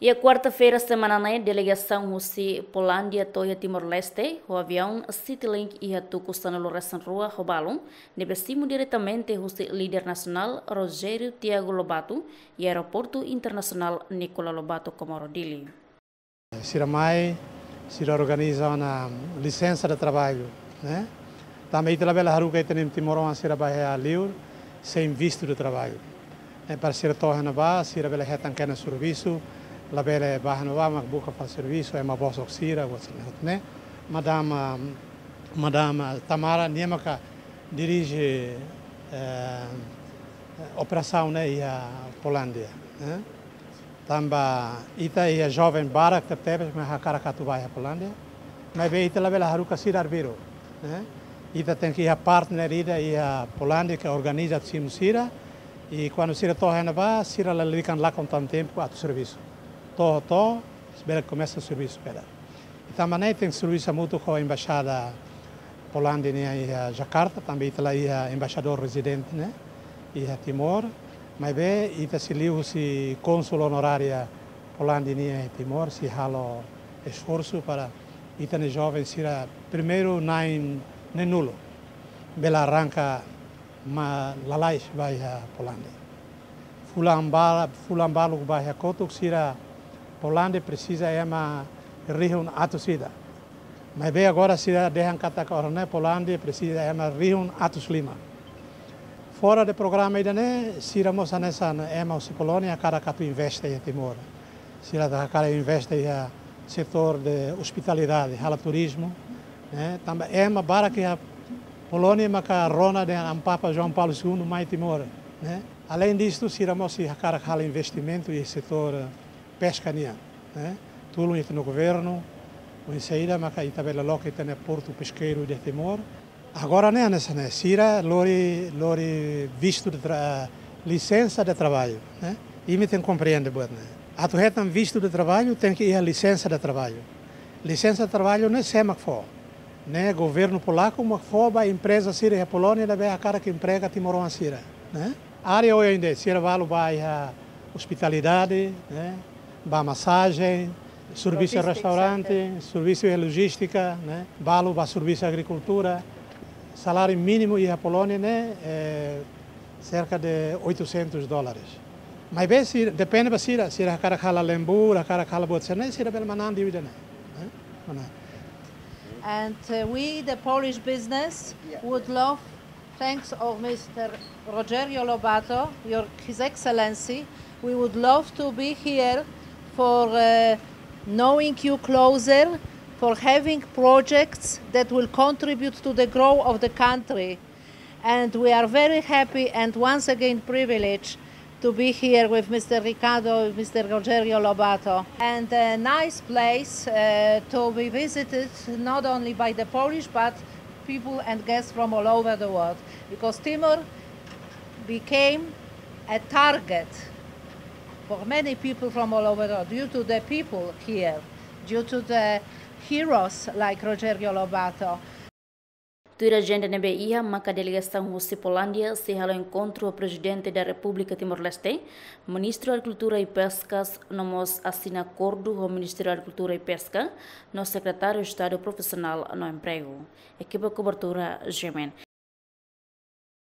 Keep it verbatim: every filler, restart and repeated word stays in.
Iha kuarta-feira semana ne'e, delegasaun husi Polándia to'o iha Timor-Leste ho aviaun Citylink iha tuku sanulu-resin-rua ho balun, ne'ebé simu diretamente husi líder nasionál Rogério Tiago Lobato iha Aeroportu Internasionál Nicolau Lobato Comoro Dili. Sira mai, sira organiza ona lisensa de trabalho, né? Tanba ita labele haruka ita-nia timoroan sira ba iha liur sein vistu de trabalho. Ne'e para sira to'o iha ne'ebá, sira bele hetan kedas servisu, labele ba iha ne'ebá mak buka fali servisu, ema bosok sira, buat sira-ne'e, né? Madama, Madama Tamara, nia maka dirije, eh, operasaun ne'e iha Polándia, né? Tanba ita iha joven barak tebetebes mak hakarak atu ba iha Polándia. Maibé ita labele haruka sira arbiru, né? Ita tenke iha partner ida iha Polándia ke organiza atu simu sira. I kuandu sira to'o iha ne'ebá, sira lalika lakon tan tempu atu servisu. To'o, to'o, bele komesa servisu kedas. I tanba ne'e tenke servisu hamutuk ho embaixada Polándia nian iha Jakarta, tanba ita la iha embaixadór rezidente, né, iha Timor. Maibé ita sei liuhusi kónsul onorária Polándia nian iha Timor, sei halo esforsu para ita-nia joven sira primeiru na'in neen-nulu bele arranka lalais ba iha Polándia. Fulan ba, fulan baluk ba iha kotuk sira Polándia presiza ema rihun atus ida. Maibé agora sira dehan katak agora ne'e Polándia presiza ema rihun atus lima. Fora de programa ida-ne'e, sira mós hanesan ema husi Polónia hakarak atu investe iha Timor. Sira hakarak investe iha setór de ospitalidade, halo turizmu, né? Tanba ema barak iha Polónia maka rona dehan Amu Papa João Paulo Segundo mai Timor, né? Além disto, sira mós hakarak halo investimentu iha setór peska nian, né? Tulun ita-nia governu, oinsá ida maka ita bele loke ita-nia portu peskeiru iha Timor. Agora ne'e hanesan ne'e, sira lori, lori vistu de tra-, lisensa de trabalho, né? Imi tenke komprende buat ne'e. Atu hetan vistu de trabalho, tenke iha lisensa de trabalho. Lisensa de trabalho ne'e sé mak fó? Ne'e governu polaku mak fó ba empreza sira iha Polónia ne'ebé hakarak emprega timoroan sira, né? Área oioin de'it, sira balu ba iha ospitalidade, né? Ba masajen, servisu iha restaurante, servisu iha lojístika, né? Balu ba servisu agrikultura. Saláriu mínimu iha Polónia ne'e, eh, cerca de oitocentos dólares. Maibé sira, depende ba sira, sira hakarak halo lembur, hakarak halo buat sira-ne'e, sira bele manán dívida ne'e, né? Manán. And, uh, we, the Polish business, would love, thanks of Mister Rogério Lobato, your, His Excellency, we would love to be here for, uh, knowing you closer, for having projects that will contribute to the growth of the country. And we are very happy and once again privileged to be here with Mister Ricardo, with Mister Rogério Lobato. And a nice place, uh, to be visited not only by the Polish, but people and guests from all over the world, because Timor became a target for many people from all over the world due to the people here, due to the heroes like Rogério Lobato. Tuir ajenda ne'ebé iha, maka delegasaun husi Polándia sei halo enkontru ho Prezidente da Repúblika Timor-Leste, Ministru Agrikultura i Peskas, no mós asina akordu ho Ministériu Agrikultura i Peska, no Sekretáriu Estadu Profisionál no Empregu. Ekipa kobertura, G M N.